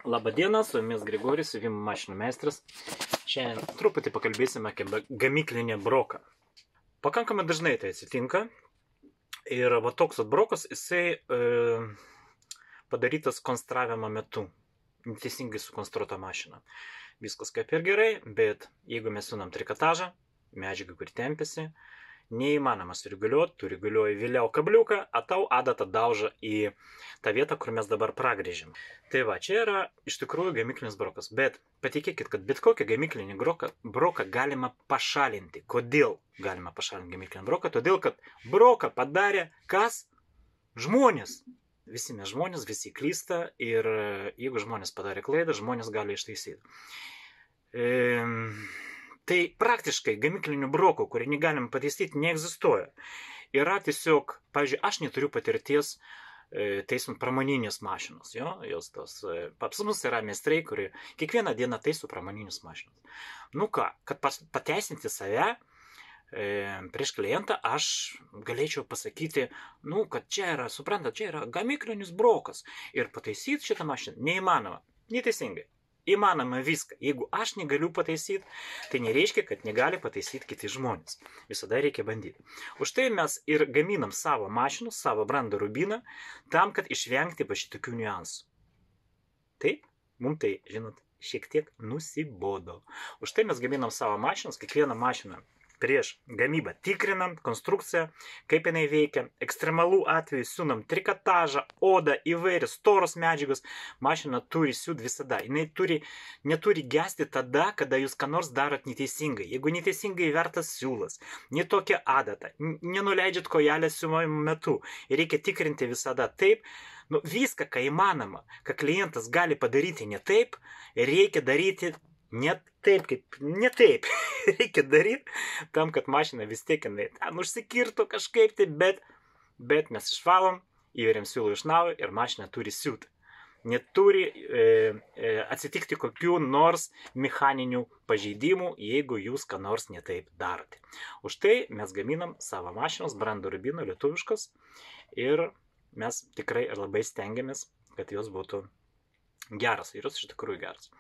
Labadiena, su jumis Grigorijus, siuvimo mašinų meistras. Šiandien truputį pakalbėsime apie gamyklinį broką. Pakankamai dažnai tai atsitinka. Ir va toks brokas, jisai padarytas konstravimo metu. Neteisingai sukonstruota mašina. Viskas kaip ir gerai, bet jeigu mes siūnam trikotažą, medžiagą, kuri tempėsi, neįmanoma sureguliuoti, tu reguliuoji vėliau kabliuką, o tau adata dauža į tą vietą, kur mes dabar pragrėžim. Tai va, čia yra iš tikrųjų gamyklinis brokas, bet patikėkit, kad bet kokį gamyklinį broką galima pašalinti. Kodėl galima pašalinti gamyklinį broką? Todėl, kad broką padarė kas? Žmonės. Visi mes žmonės, visi klysta ir jeigu žmonės padarė klaidą, žmonės gali ištaisyti. Tai praktiškai gamyklinių brokų, kurį negalim pataisyti, neegzistuoja. Yra tiesiog, pavyzdžiui, aš neturiu patirties taisant pramoninės mašinos. Pas mus yra meistrai, kurie kiekvieną dieną taiso pramoninės mašinos. Nu ką, kad pateisinti save prieš klientą, aš galėčiau pasakyti, kad čia yra, suprantat, čia yra gamyklinis brokas. Ir pataisyti šitą mašiną neįmanoma, neteisingai. Įmanoma viską. Jeigu aš negaliu pataisyti, tai nereiškia, kad negali pataisyti kiti žmonės. Visada reikia bandyti. Už tai mes ir gaminam savo mašinų, savo brandą rubiną, tam, kad išvengti va šitokių niuansų. Taip, mums tai, žinot, šiek tiek nusibodo. Už tai mes gaminam savo mašinas, kiekvieną mašiną prieš gamybą tikrinam konstrukciją, kaip jinai veikia. Ekstremalų atveju siūnam trikotažą, odą, įvairias storos medžiagos. Mašina turi siūt visada. Jinai neturi gesti tada, kada jūs ką nors darot neteisingai. Jeigu neteisingai vertas siūlas, netokia adata, nenuleidžiat kojelę siuvimo metu. Ir reikia tikrinti visada taip. Viską, ką įmanoma, ką klientas gali padaryti ne taip, reikia daryti ne taip. Reikia daryti tam, kad mašina vis tiek užsikirtų kažkaip tai, bet mes išvalom, įveriam siūlų iš naujo ir mašina turi siūti. Neturi atsitikti kokių nors mechaninių pažeidimų, jeigu jūs ką nors netaip darote. Už tai mes gaminam savo mašinos, brando rubino, lietuviškos, ir mes tikrai labai stengiamės, kad jos būtų geras, ir jos iš tikrųjų geras.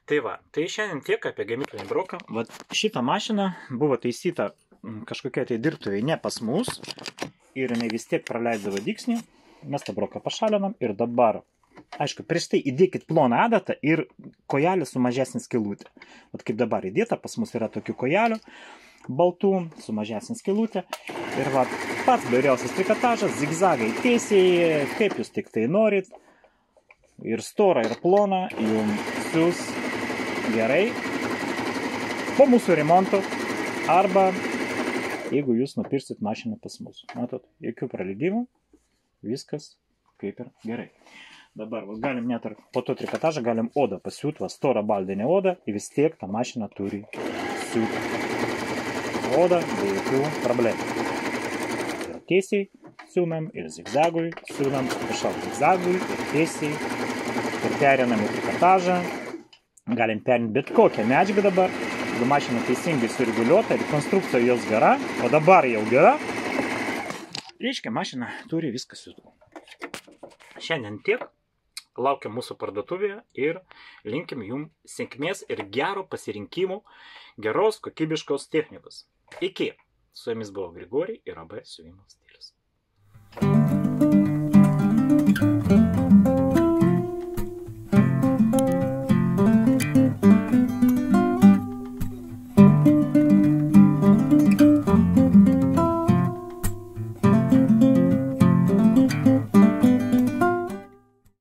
Tai va, tai šiandien tiek apie gamyklinį broką. Šitą mašiną buvo taisyta kažkokia tai dirbtuvė ne pas mus, ir jinai vis tiek praleisdavo dygsnį. Mes tą broką pašalinam ir dabar, aišku, prieš tai įdėkit ploną adatą ir kojelį su mažesnė skylutė. Kaip dabar įdėta, pas mus yra tokių kojelių baltų su mažesnė skylutė. Ir pats bairiausias trikotažas, zigzagai tiesiai, kaip jūs tik tai norit. Ir stora, ir plona, jums siūs gerai po mūsų remonto, arba jeigu jūs nupirsit mašiną pas mus. Matot, jokių praleidimų, viskas kaip ir gerai. Dabar galim net ir po to trikotažą galim odą pasiūt, storą baldinę odą, ir vis tiek tą mašiną turi siūt. Odą be jokių problemų. Ir tiesiai siūnam, ir zigzagui siūnam, zigzagui, ir tiesiai. Ir perinam į trikotažą. Galim perinti bet kokią medžiagą dabar. Jeigu mašina teisingai sureguliuota ir konstrukcija jos gera, o dabar jau gera, reiškia, mašina turi viską siūtų. Šiandien tiek. Laukiam mūsų parduotuvėje ir linkim jums sėkmės ir gero pasirinkimų, geros, kokybiškos technikos. Iki. Su jumis buvo Grigorijus ir AB siuvimo stilius.